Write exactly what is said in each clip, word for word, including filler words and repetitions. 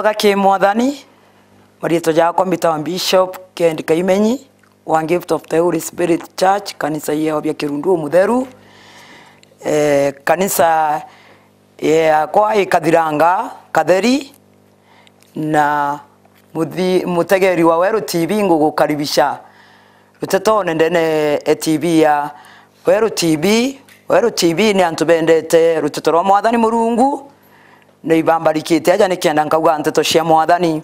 Tha ki Mwathani, mariitwa jakwa mbitagwa Bishop Kennedy Kaimenyi wa Gift of the Holy Spirit Church, kanisa ya Obia Kirundu Umutheru. Eh, kanisa yakwa ikathiranga Katheri, na muthi-, mutegeri wa Weru T V ngugukaribisha rutetone ndene e T V ya Weru T V. Weru T V ni antu bendete ruteto rwa Mwathani Murungu, ni ibambarikite aja nikenda nkauga nteto cia Mwathani.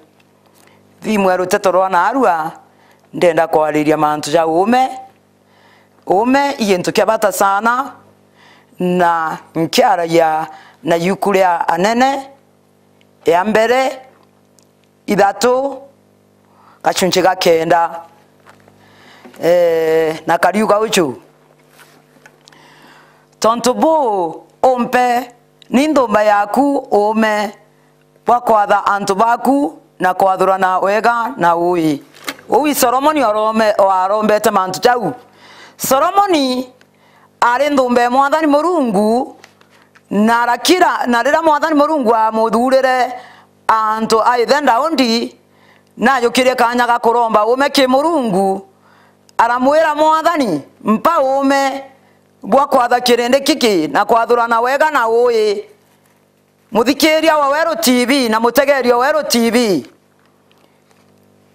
Thimu ya ruteto rwa naarua, ndenda kwariria mantu ja uume. Uume i gintu kia bata sana, na nkiaragia na yuku ria Anene ya mbere ithatu, gachunchi ga kenda, eh, na kariuga uju: Tontu buu umpe ni nthumba yaku uume bwa kwatha antu baku na kwathurana wega na uui. Uu i Solomoni orome-, warombete mantu jau. Solomoni aari nthumba ya Mwathani Murungu, na arakira, na riria Mwathani Murungu aamuthuurire antu a ithe Daudi, najukirie kaanya ga kuromba uume ki Murungu, aramwira, "Mwathani, mpa uume bwa kwatha kirindi giki na kwathurana wega na uui." Muthikiria wa Weru T V na mutegeria wa Weru T V,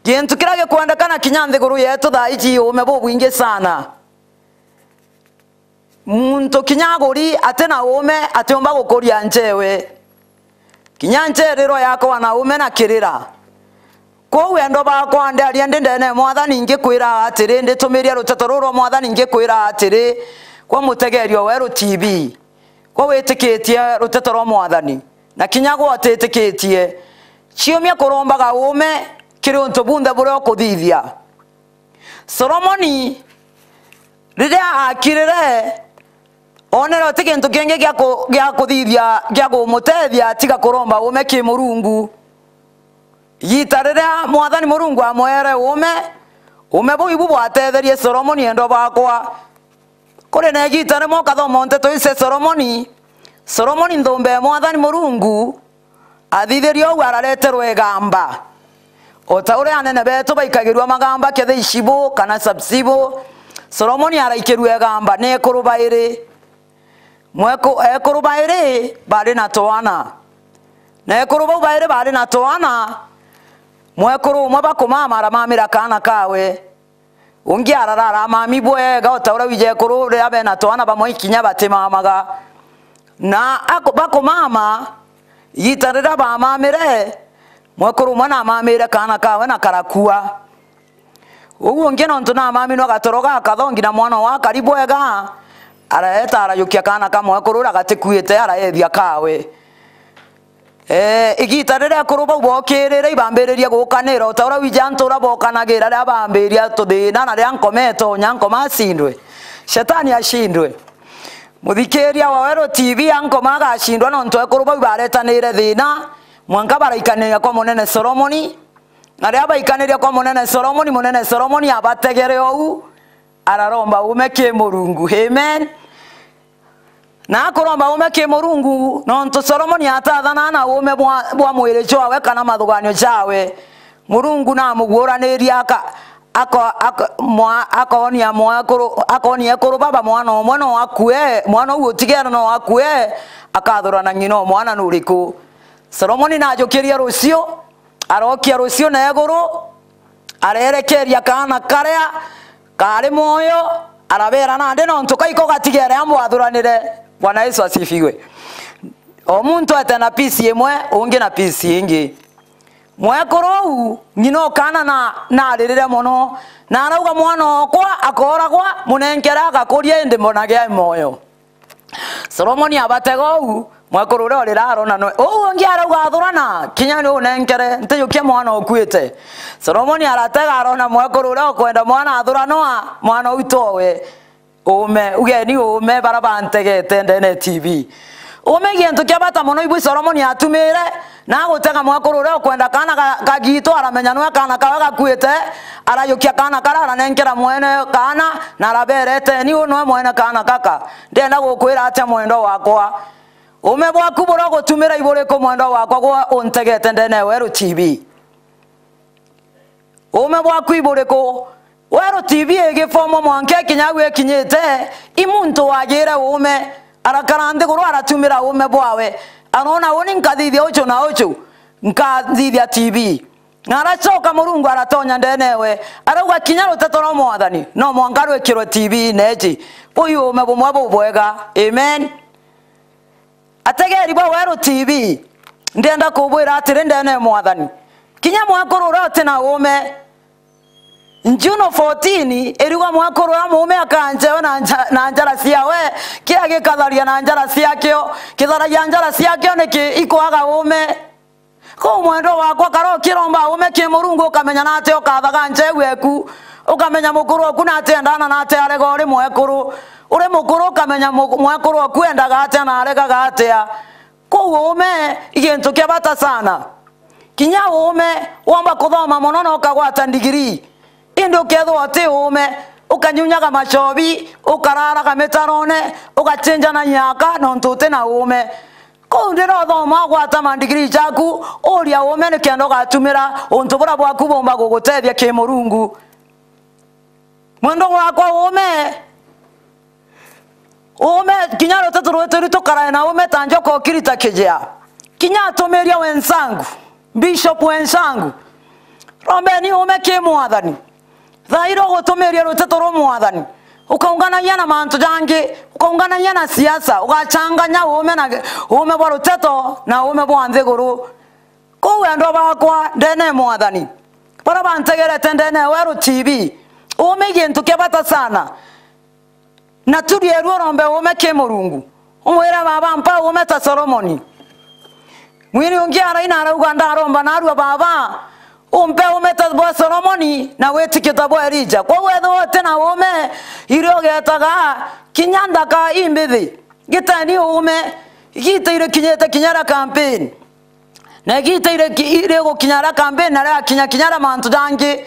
gintu kiria gikwendekana kinya nthiguru yetu thaa iji uume bubwingi sana. Muntu kinya aguri ati na uume atiumba gukuria nchewe. Kinya ncherirwa yakwa na uume na kirira. Kwou endwa bakwa, ndiaria ndi ndene ya Mwathani, ngikwira atiri, nditumiria ruteto ruru rwa Mwathani, ngikwira atiri, kwa mutegeria wa Weru T V, kwa witikitie ruteto rwa Mwathani, na kinya gwa utitikitie, ciumia kurombaga uume kiri untu bunthe buria ukuthithia. Solomoni riria akirire, onere uti gintu kingi gia ku-, gia kuthithia, gia kumutethia tiga kuromba uume ki Murungu. Igita riria Mwathani Murungu amwere uume, uume buu ibu bwatetherie Solomoni, endwa bakwa. Kuri na igita rimwe ukathoma nteto ici cia Solomoni. Solomoni nthumba ya Mwathani Murungu athithirie uu, arareterwe igamba. O ta uria anene betu baikagirua magamba, kethira icibu kana sabcibu, Solomoni araikirua igamba ni ekuru bairi. Mweku-, ekuru bairi baari na twana. Na ekuru bau bairi baari na twana, mwekuru umwe bakumama aramamira kaana kawe. Ungi arara aramami bwega, o ta uria wiji ekuru riria bena twana bamwe ikinya batimamaga. Na aku-, bakumama, igita riria bamamire, mwekuru umwe namamire kaana kawe na karakua. Uu ungi nontu namami nwa gatoro gakathongi na mwana wa kari bwega, araeta arajukia kaana ka mwekuru uria gatikuite, araethia kawe. Eh, igita riria ekuru bau bookirire, ibambiririe gukanira, o ta uria wiji antu uria bookanagira riria bambiria tuthina, na riria nkoma itonya, nkoma acindwe. Shetani acindwe. Muthikiria wa Weru T V, ankoma agacindwa, nontu ekuru bau ibaretanire thina, mwanka baraikaniria kwa munene Solomoni. Na riria baikaniria kwa munene Solomoni, munene Solomoni abategere ou, araromba uume ki Murungu. Amen. Na akuromba uume ki Murungu, nontu Solomoni atathana na uume bwa, bwa mwiri jwawe kana mathuganio jawe, Murungu namuguuranirie aka-, ako-, ako-, mwa-, akoonia mwekuru, akoonia ekuru baba mwana umwe no akue, mwana uu utigere no akue, akathurana ng'ina o mwana nuriku. Solomoni najukirie rucio, arokia rucio na iguru, arerekeria kaana karia kaari mwoyo, arabeera, "Nandi nontu kaiko gatigere ambwathuranire." Bwana Yesu asifiwe. O muntu ete na piece imwe, ungi na piece ingi. Mwekuru uu, ng'ina o kaana na, naririre mono, na arauga, "Mwana okwa akooragwa, munenkere agakuria, indi mbonage ai mwoyo." Solomoni abatega uu, mwekuru uria urira arona nwe. Uu ungi arauga, "Athurana, kinya ni unenkere, ntijukia mwana ukuite." Solomoni aratega arona mwekuru uria ukwenda mwana athuranwa, mwana uu towe. Uume, ugeni uume bara bantegete ndene T V. Uume i gintu kia bata mono, ibu Solomoni atumire, na agutega mwekuru uria ukwenda kaana ga-, kagiitu, aramenya nwe kaana kawe gakuite, arajukia kaana karia aranenkera mwene kaana, na arabeera, "Eteni, uu nwe mwene kaana kaka. Ndenda gukwira atia mwendwa wakwa?" Uume bwaku buria ugutumira iburiku, mwendwa wakwa, gwe untegete ndene ya Weru T V? Uume bwaku iburiku? Weru T V igifomwa mwanka ikinya au ikinyite, i muntu wagire uume, arakara nthiguru aratumira uume bwawe, arona, uni nkathithia uju na uju, nkathithia T V. Na aracoka Murungu aratonya ndene ewe, arauga, kinya ruteto rwa Mwathani no mwanka rwikirwe T V-ine iji. Buu uume bumwe bubwega. Amen. Ategeri ba Weru T V, ndienda kubwira atiri ndene ya Mwathani, kinya mwekuru uria uti na uume, Juno fourteen iriuga mwekuru uria muume akanjewe na nja-, na njara ciawe, kiria gikatharia na njara ciakio, kitharagia njara ciakio niki? Ikwaga uume. Kou mwendwa wakwa, kara ukiromba uume ki Murungu, ukamenya nate ukathaga ncheu eku, ukamenya mukuru oku nate endaga na nate arega uri mwekuru. Uri mukuru, ukamenya mu-, mwekuru oku endaga atia na aregaga atia. Kou uume i gintu kia bata sana. Kinya uume, womba kuthoma mono na ukagwata ndigiri, indi ukethirwa uti uume, ukanyunyaga machobi, ukararaga mitarone, ugachinjana nyaka nontu uti na uume. Kou ndira uthoma ugwata mandigiri jaku, uria uume nikenda ugatumira untu buria bwaku bumba gugutethia ki Murungu. Mwendwa wakwa, uume, uume, kinya ruteto rwetu ri tukarae na uume ta njoka ukirita kijea. Kinya atumiria wenzangu, bishop wenzangu, rombeni uume ki Mwathani. Thaa iria ugutumiria ruteto rwa Mwathani, ukaunganagia na mantu jangi, ukaunganagia na siasa, ugachanganya uume na, uume bwa ruteto na uume bwa nthiguru. Kou endwa bakwa ndene ya Mwathani, baria bantegerete ndene ya Weru T V, uume i gintu kia bata sana. Na tu rieru urombe uume ki Murungu. Umwire, baba, mpa uume ta Solomoni. Mwini ungi araina arauga, ndaromba narua, baba, umpe uume ta bwa Solomoni na witikia ta bwa Elija. Kwou ethirwa uti na uume, irio ugetaga kinya nthaka imbithi. Giteni uume, igiita irikinyite kinya ria campaign. Na igiita iri-, iri gukinya ria campaign na riakinya kinya ria mantu jangi,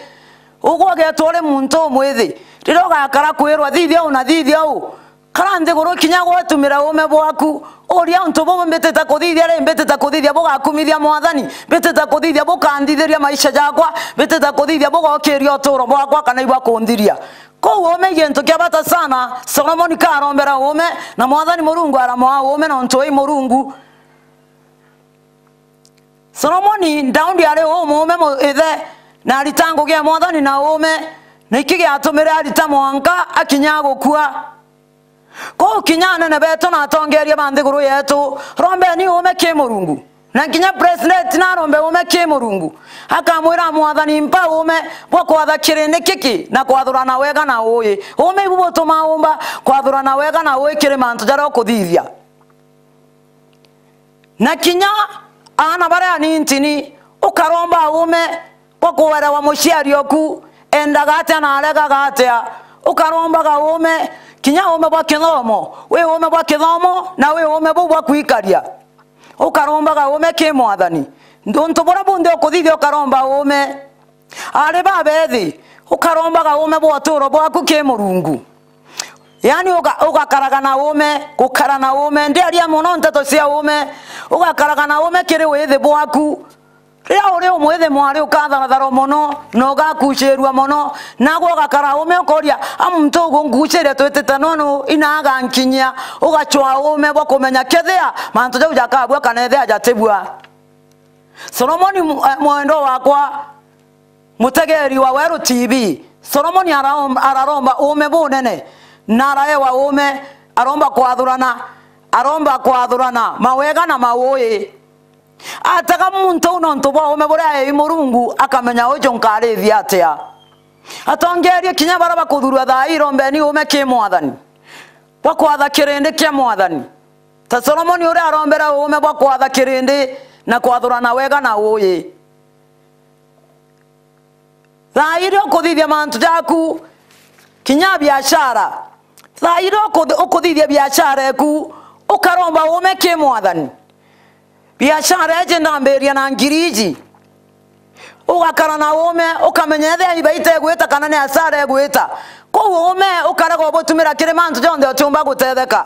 ugwe ugetwa uri muntu umwithi. Riria ugakara kwirwa, thithia uu na thithia uu, kara nthiguru kinya gwetumira uume bwaku, uria untu bubu mbitite kuthithia ri, mbitite kuthithia bugakumithia Mwathani, mbitite kuthithia bukanthithiria maisha jakwa, mbitite kuthithia bugokiria uturo bwakwa kana ibwa kunthiria. Kou uume i gintu kia bata sana. Solomoni karombera uume, na Mwathani Murungu aramwaa uume nontu wi Murungu. Solomoni Daudi ari umuume mu-, ithe, na arita ngugi ya Mwathani na uume, na iki giatumire arita mwanka akinya gukua. Kou kinya anene betu na atongeeria ba nthiguru yetu, rombeni uume ki Murungu. Na kinya president narombe uume ki Murungu, akamwira, Mwathani, mpa uume bwa kwatha kirindi giki na kwathurana wega na uui. Uume ibu butuma umba kwathurana wega na uui kiri mantu jaria ukuthithia. Na kinya aana baria anintini, ukaromba uume bwa kuerewa muciari oku endaga atia na aregaga atia. Ukarombaga uume, kinya uume bwa kithomo, wi uume bwa kithomo na wi uume buu bwa kwikaria. Ukarombaga uume ki Mwathani. Untu buria bunthe ukuthithia ukaromba uume. Ari babethi, ukarombaga uume bwa uturo bwaku ki Murungu. Yaani uga-, ugakaraga na uume, gukara na uume, ndiaria mono nteto cia uume, ugakaraga na uume kiri withi bwaku. Riria uri umwithi mwari ukatharathara mono na ugakucirua mono, nagwe ugakara uume ukoria, a muntu ugunguciria twitite nonu ina agankinyia, ugacwaa uume bwa kumenya kethia mantu jau jakabua kana ethia jatibua. Solomoni mu-, eh, mwendwa wakwa, mutegeri wa Weru T V, Solomoni araom-, araromba uume bunene, na araewa uume, aromba kwathurana, aromba kwathurana mawega na mauui. Atega muntu uu nontu bwa uume buria aei Murungu, akamenya uju nkarithia atia. Atongeerie kinya baria bakuthurua thaa ii, rombeni uume ki Mwathani bwa kwatha kirindi kia Mwathani. Ta Solomoni uria arombera uume bwa kwatha kirindi na kwathurana wega na uui. Thaa iria ukuthithia mantu jaku, kinya biashara, thaa iria ukuthi-, ukuthithia biashara eku, ukaromba uume ki Mwathani. Biashara iji ndambiria na ngiri iji. Ugakara na uume, ukamenya ethia ibaita igwita kana ni asara igwita. Kou uume ukarega ubutumira kiri mantu jonthe utiumba gutetheka.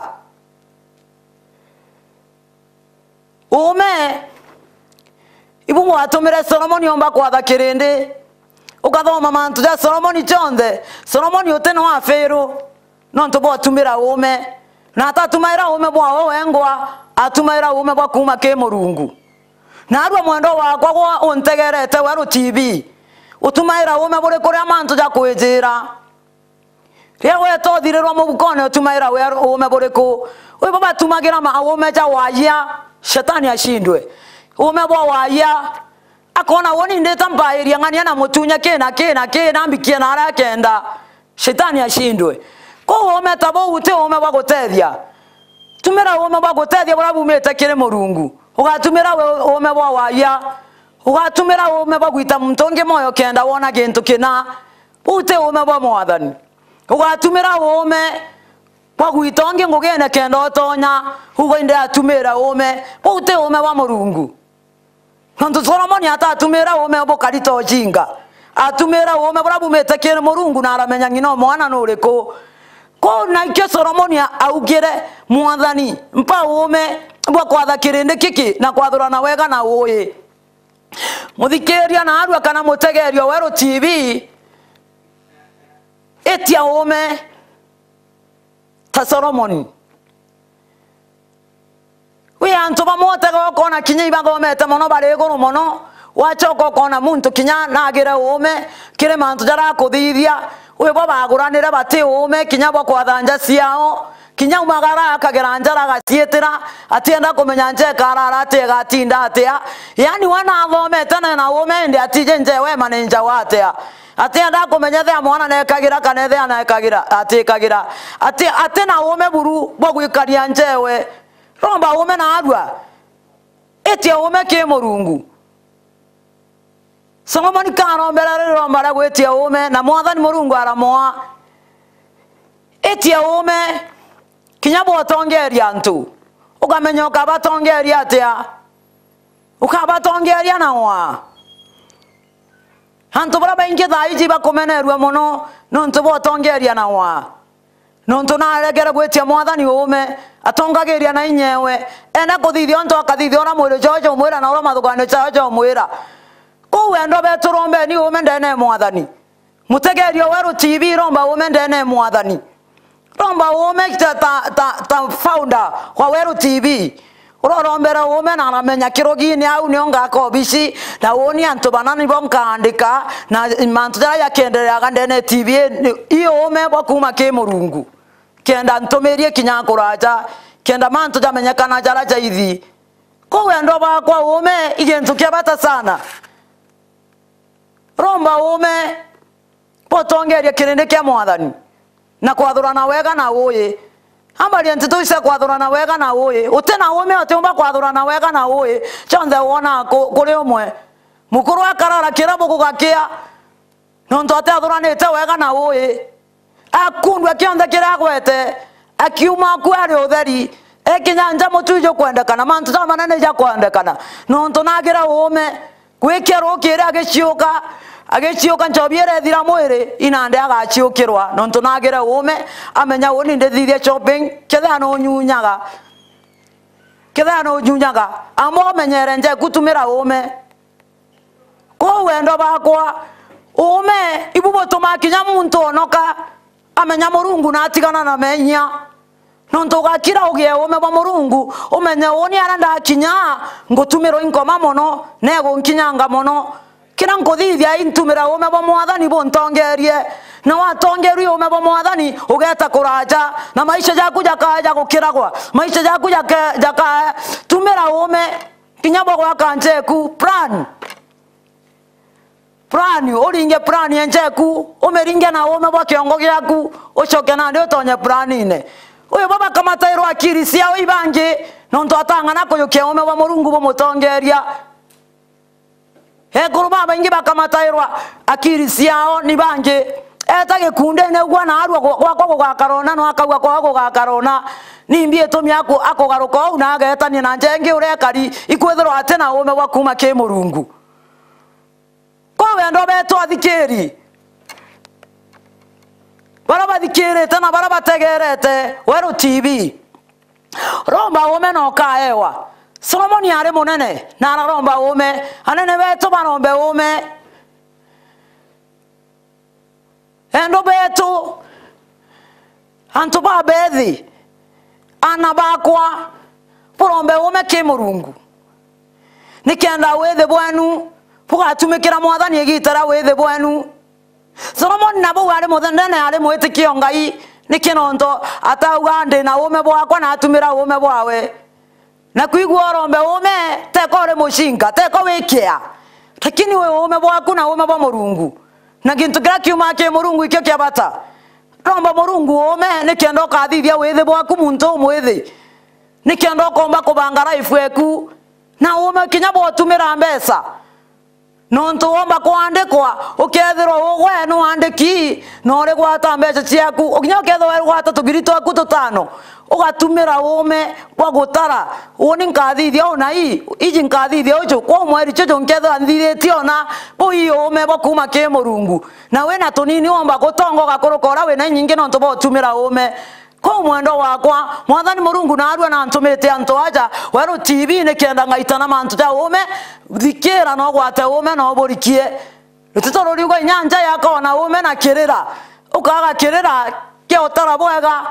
Uume, ibu bwatumire Solomoni omba kwatha kirindi. Ukathoma mantu ja Solomoni jonthe, Solomoni uti no afiru, nontu bwa utumira uume. Na atatumaira uume bwawe wengwa, atumaira uume bwa kuuma ki Murungu. Naarua mwendwa wakwa gwa untegerete Weru T V, utumaira uume buri kuria mantu ja kwijira? Riria weta uthirirwa mubukone, utumaira we-, uume buriku? Wi bo batumagira ma-, uume ja waayia, Shetani ashindwe. Uume bwa waayia, akona, uuni ndita mpairia ng'ania na mutunya kina, kina, kina, mbikie na aria akenda, Shetani ashindwe. Kou uume ta buu ti uume bwa gutethia. Tumira uume bwa gutethia buria bumite kiri Murungu. Ugatumira we-, uume bwa waayia. Ugatumira uume bwa gwita muntu ungi mwoyo kenda wona gintu kina. Buu ti uume bwa Mwathani. Ugatumira uume bwa gwita ungi ngugine kenda utonya, uga indi atumira uume. Buu ti uume bwa Murungu. Nontu Solomoni atatumira uume bukari ta ujinga. Atumira uume buria bumite kiri Murungu na aramenya ng'ina o mwana nuriku. Kou naikio Solomoni augire, Mwathani, mpa uume bwa kwatha kirindi giki na kwathurana wega na uui. Muthikiria naarua kana mutegeria Weru T V, itia uume ta Solomoni. Wi antu bamwe utega ukona kinya ibathomete mono, bari iguru mono, wachoka ukona muntu kinya naagire uume kiri mantu jaria akuthithia. Wi bo baguranire bati uume kinya bwa kwatha nja ciao. Kinya aumagara akagera njara agaciitira, atienda kumenya nja ikarara atia, igatinda atia. Yaani we nathomete na ena uume indi atiji nja ewe manager wa atia. Atienda kumenya ethia mwana nekagira kana ethia nekagira, atikagira. Ati, ati na uume buru bwa gwikaria nja ewe. Romba uume naarua. Itia uume ki Murungu. Solomoni karombera riromba ria gwitia uume, na Mwathani Murungu aramoa. Itia uume kinya bwa utongeria antu, ukamenya ukabatongeria atia? Ukabatongeria na waa. Antu baria baingi thaa iji bakumenerua mono nontu bwa utongeria na waa. Nontu naregere gwitia Mwathani uume, atongagiria na inya ewe. Enda kuthithia untu akathithia uria mwiri jwao jwaumwira na uria mathuganio jao jaumwira. Kou wendo betu rombeni uume ndene ya Mwathani. Mutegeria Weru T V, romba uume ndene ya Mwathani. Romba uume ta, ta, ta, ta founder wa Weru T V. Urorombera uume na aramenya kirugini au nio ngaka obici, na uuni antu bana nibo nkaandika, na mantu jaria jakiendereaga ndene ya T V ni, i uume bwa kuuma ki Murungu. Kenda ntumirie kinya kuraja, kenda mantu jamenyekana jaria jaithi. Kou wendo bakwa, uume i gintu kia bata sana. Romba uume bwa utongeria kirindi kia Mwathani, na kwathurana wega na uui. Ambaria nteto ici cia kwathurana wega na uui. Uti na uume utiumba kwathurana wega na uui. Kionthe wonaga ku-, kuri umwe. Mukuru akarara kirabu gugakia, nontu atiathuranite wega na uui. Akundua kionthe kiria agwete, akiuma aku ari utheri. Ekinya nja mutu ijukwendekana, mantu jamanene ijakwendekana, nontu nagira uume. Gwikia rukiri agiciuka, agiciuka nchobi irethira mwiri, inandi agaciukirwa, nontu nagire uume, amenya uuni ndithithia shopping, kethira nunyunyaga. Kethira nunyunyaga, amba umenyere njeku tumira uume. Kou wendo bakwa, uume, ibu butumaa kinya muntu onoka, amenya Murungu na atigana na menya. Nontu ugakira ugie uume bwa Murungu, umenye uuni aria ndakinya, ngutumirwa i nkoma mono, na igunkinyanga mono. Kira nkuthithia intumira uume bwa Mwathani buntongerie, na watongerua uume bwa Mwathani, ugeeta kuraja, na maisha jaku jakaya ja gukiragwa, maisha jaku jaka-, jakaya, tumira uume, kinya bwa gwaka njeku, plan. Plan, uringe plan ya njeku, umiringe na uume bwa kiongo giaku, ucoke nandi utonye planine. Uyu baba kamatairwa akiri ciao ibangi, nontu atang'ana kuyukia uume bwa Murungu bumutongeria. Ekuru babaingi bakamatairwa akiri ciao ni bangi. Eta gikundine ugwa na arua gwa-, gwakwa gugakarona, no akauga kwao gugakarona. Nimbi itumi aku-, akugaruka uu na agetania na njengi uria ekari, ikwithirwa ati na uume bwa kuuma ki Murungu. Kwa wendo betu athikiri, baria bathikirite na baria bategerete Weru T V, romba uume na ukaewa. Solomoni ari munene na araromba uume. Anene betu barombe uume. Endo betu, antu ba bethi, ana bakwa, burombe uume ki Murungu, nikenda withi bwenu bugatumikira Mwathani igiita ria withi bwenu. Solomoni na bau ari muthendene, ari mwitikio Ngai, niki nontu atauga, "Ndi na uume bwakwa," na atumira uume bwawe. Na kwigua urombe uume, teko uri mucinga, teko wi kia, lakini wi uume bwaku na uume bwa Murungu. Na gintu kiria kiumaa ki Murungu ikio kia bata. Romba Murungu uume nikenda ukathithia withi bwaku muntu umwithi, nikenda ukomba kubanga life eku na uume kinya bwa utumira mbeca. Nontu womba kwandikwa, ukethirwa ugwe ni wandiki, na urigwata mbeca ciaku, ukinya ukethirwa urigwata tugiri twaku tutano, ugatumira uume bwa gutara, uuni nkathithia una ii, iji nkathithia uju, kwa mweri juju nkethirwa nthithitie una, buu ii uume bwa kuuma ki Murungu. Na wina tunini womba gutonga ugakuruka uria wina inyingi nontu bwa utumira uume. Kuu mwendwa wakwa, Mwathani Murungu naarua na antumite antu aja Weru T V nikenda ngaitana mantu ja uume, thikira na ugwate uume na uburikie. Rutito ruriuga inya nja yakona uume na kirira, ukaga kirira kia utara bwega.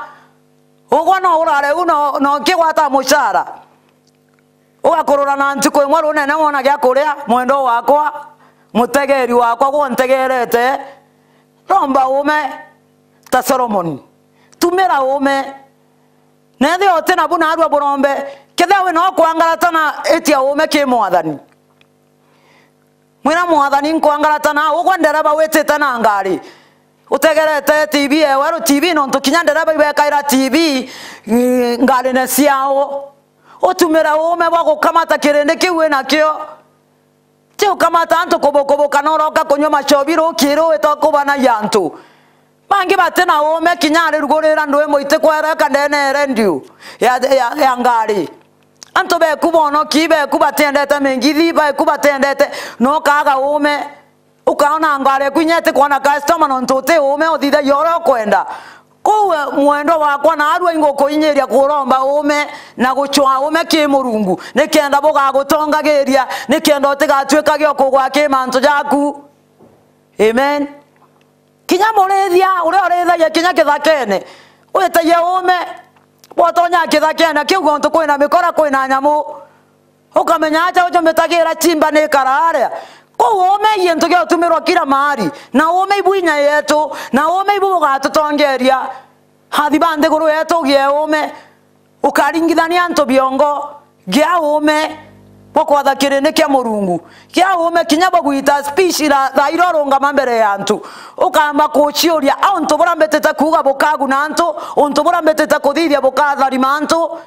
Ugwe no urare u no, no ukigwata mucara. Ugakurura na ntuku imwe runene wona gia kuria, mwendwa wakwa, mutegeeri wakwa, gwe untegeerete, romba uume ta Solomoni. Tumira uume. Na ethia uti nabu naarua burombe, kethia wina ukwangaratana, itia uume ki Mwathani. Mwira Mwathani, nkwangaratana, ugwe ndereba witite na ngari, utegerete T V ewe, Weru T V, nontu kinya ndereba ibekaira T V, mm, ngarine ciao. Utumire uume bwa gukamata kirindi kiu winakio. Ti ukamata antu kubukubuka na uroka kunyua machobi rukiri wita kubanagia antu. Bangi bati na uume kinya arirugurira ndwi mwiti kwereka ndene ya redio ya, ya, ya ngari. Antu beku bonoki, beku batiendete mingithi, beku batiendete, no ukaaga uume. Ukaona ngari eku inya itikwona customer nontu uti uume uthithagia uria ukwenda. Kou we mwendwa wakwa, naarua ingukuinyiria kuromba uume na gucwaa uume ki Murungu, nikenda bugagutongagiria, nikenda utigatuikage ukugwa ki mantu jaku. Amen. Kinya murithia uria urithagia kinya kithakene, witagia uume, bwotonya kithakene kiu gontu kwina mikora, kwina nyamu, ukamenya aja uju mitagira chimba ni ikara aria. Kou uume i gintu gia utumirwa kila mahali, na uume ibu inya yetu, na uume ibu bugatutongeria. Athi ba nthiguru yetu, ugie uume. Ukaringithania antu biongo, gia uume bwa kwatha kirindi kia Murungu, gia uume kinya bwa gwita speech ira thaa iria urungama mbere ya antu, ukamba kuciuria, a untu buria mbitite kuuga bukaguna antu, untu buria mbitite kuthithia bukatharima antu.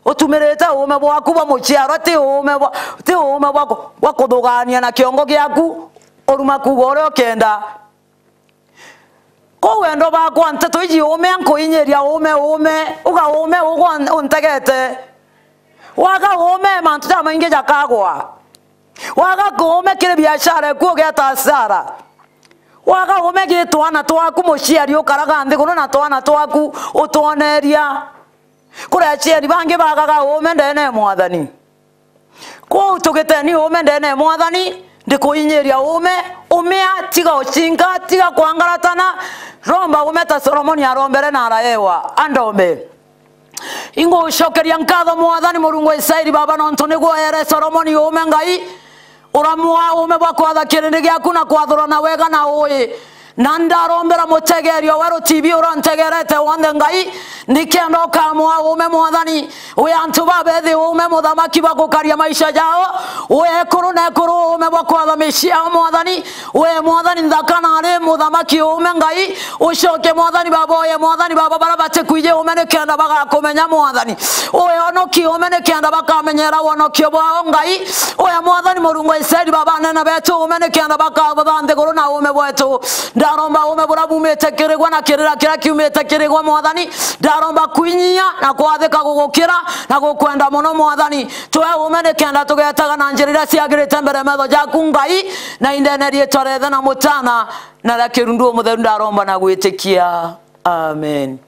Utumirite uume bwaku bwa muciarwa, ti uume bwa, ti uume bwa ku-, bwa kuthugania na kiongo giaku, uruma kuuga uria ukenda. Kou wendo bakwa, nteto iji uume, nkuinyiria uume, uume, uga uume, ugwa un-, untegete. Waga uume, mantu jamaingi jakagwa. Waga uume kiri biashara eku ugieta hasara. Waga uume gi twana twaku, muciari ukaraga nthiguru na twana twaku utwoneria. Kuri aciari bangi bagaga uume ndene ya Mwathani. Kwou tugiteni uume ndene ya Mwathani, ndikuinyiria uume, umia, tiga ucinga, tiga kwangaratana, romba uume ta Solomoni arombere na araewa, andombe. Ingucokeria nkatho Mwathani Murungu wa Israeli Baba, nontu niguo eere Solomoni uume Ngai, uramwaa uume bwa kwatha kirindi giaku na kwathurana wega na uui. Na ndarombera mutegeeri o Weru T V urantegerete wonthe Ngai, nikenda ukamwaa uume Mwathani, wi antu babethi uume Muthamaki bwa gukaria maisha jao, wi ekuru na ekuru uume bwa kwatha micii yao Mwathani, wi Mwathani nthaka na ari Muthamaki uume Ngai, ucoke Mwathani Baba, uye Mwathani Baba baria batikwiji uume nikenda bagakumenya Mwathani, uye onoki uume nikenda bakamenyera wonokio bwao Ngai, uye Mwathani Murungu wa Israeli Baba anene betu uume nikenda bakabutha nthiguru na uume bwetu. Ndaromba uume buria bumite kiri gwe na kirira kiria kiumite kiri gwe Mwathani. Ndaromba kwinyia na kwathika gugukira na gukwenda muno Mwathani. Twe uume nikenda tugetaga na njira iria ciagirite mbere metho jaku Ngai, na indene riitwa ria Ithe na Mutana na ria Kirundu Umutheru ndaromba na gwitikia. Amen.